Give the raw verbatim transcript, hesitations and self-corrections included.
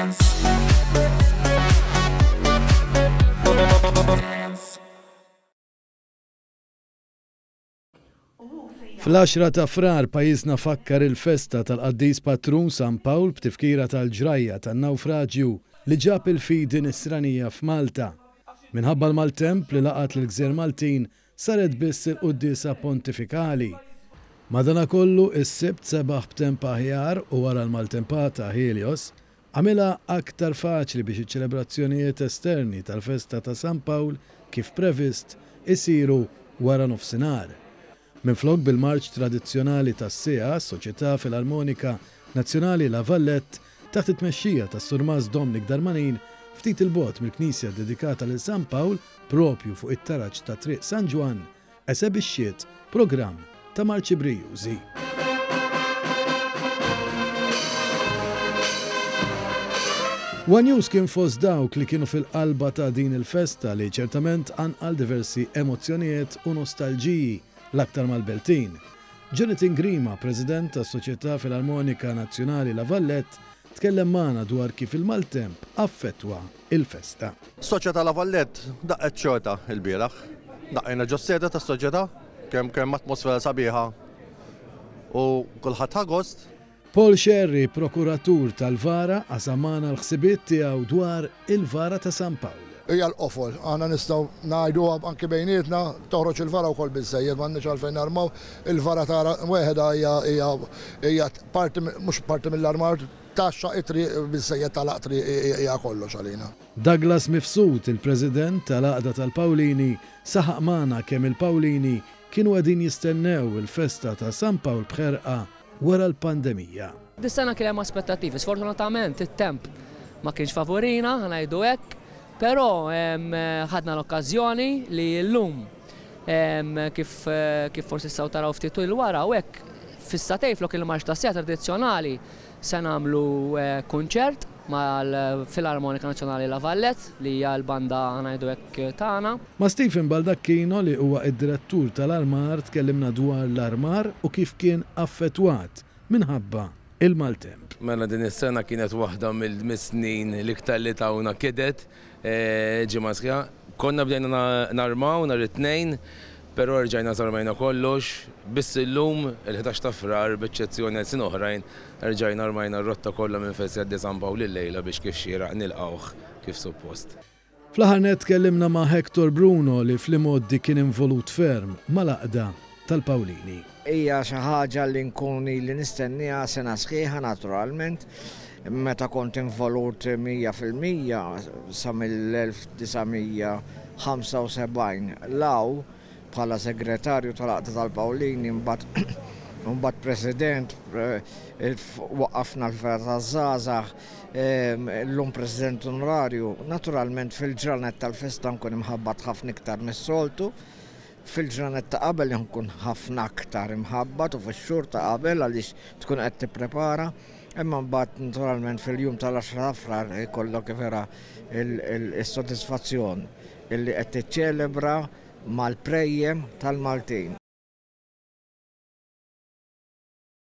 Dance. Dance. Fl-għaxra ta' Frar pajjiżna fakkar il-festa tal-qaddis patrun San Pawl b'tifkira tal-ġrajja tan-nawfraġju li ġab il-fidi nisranija f'Malta. Minħabba l-maltemp li laqat l-gżejjer Maltin saret biss il-quddiesa pontifikali. Madanakollu is-Sibt sebaħ b'temp aħjar u wara l-maltempata Helios għamilha aktar faċli biex iċ-ċelebrazzjonijiet esterni tal-festa ta' San Pawl kif previst isiru wara nofsinhar. Minflok bil-marċ tradizzjonali tas-siegħa, s-Soċjetà Filarmonika Nazzjonali La Vallette taħt it-tmexxija tas-Surmast Dominic Darmanin ftit il-bogħod mill-knisja dedikata lil San Pawl propju fuq it-taraġ ta' Triq San Ġwann esebixxiet programm ta' marċi brijużi. One News kien fost dawk li kienu fil-qalba ta' din il-festa li ċertament qanqal diversi emozzjonijiet u nostalġiji l-aktar mal-Beltin. Jonathan Grima, President tas-Soċjetà Filarmonika Nazzjonali La Vallette, tkellem magħna dwar kif il-maltemp affettwa il-festa. Soċjetà La Vallette daqqet xorta il-bieraħ. Daqqejna ġos-sede tas-soċjetà, kemm kemm atmosfera sabiħa u kulħadd ħa gost. Paul Scerri, prokuratur tal-Vara, qasam magħna l-ħsibiet tiegħu dwar il-Vara ta' San Pawl. Hija l-qofol, aħna nistgħu ngħiduha anki bejnietna, toħroġ il-vara wkoll biżżejjed, m'għandniex għalfejn narmaw, il-vara tara weħeda hija hija hija parti mhux parti mill-armar, taxxa it-triq biżżejjed tagħlaq triq hija kollox għalina. Douglas Mifsud, il-President tal-Għaqda tal-Pawlini, saħaq magħna kemm il-Pawlini kienu qegħdin jistennew il-festa ta' San Pawl b'ħerqa wara l-pandemija. Dis-sena kien hemm aspettattivi, sfortunatament it-temp ma kienx favorina, ħa ngħidu hekk, però ħadna l-okkażjoni li llum kif kif forsi tistgħu taraw ftit il wara u hekk fis-satej flok il-marċ ta' sija tradizzjonali se nagħmlu kunċert mal-Filarmonika Nazzjonali La Vallette li hija l-banda ngħidu hekk tagħna. Ma' Stephen Baldacchino li huwa id-direttur tal-armar tkellimna dwar l-armar u kif kien affettwat minħabba il-maltemp. Mela din is-sena kienet waħda mill-snin l-iktar li tawna kidet ġimgħa sħiħa. Konna bdejna narmaw nhar it-tnejn, però rġajna żarmajna kollox. Biss illum il-ħdax ta' Frar b'eċċezzjoni għal snin oħrajn rġajna armajna r-rotta kollha minn fejn se jgħaddi San Pawl illejla biex kif xieraq nilqgħuh kif suppost. Fl-aħħar nett tkellimna ma' Hector Bruno li fl-imgħoddi kien involut ferm mal-għaqda tal-Pawlini. Hija xi ħaġa li nkun ili nistenniha sena sħiħa naturalment. Meta kont involut mija fil-mija sa mill-elf disa' mija ħamsa u sebgħin law bħala segretarju tal-Għaqda tal-Pawlini, mbagħad mbagħad president, waqqafna l-Fergħa taż-Żgħażagħ, llum president onorarju. Naturalment fil-ġranet tal-festa nkun imħabbat ħafna iktar mis-soltu. Fil-ġranet ta' qabel nkun ħafna aktar imħabbat u fix-xhur ta' qabel għaliex tkun qed tipprepara. Imma mbagħad naturalment fil-jum tal-għaxra ta' Frar ikollok vera is-sodisfazzjon illi qed tiċċelebra mal-prejjem tal-Maltin.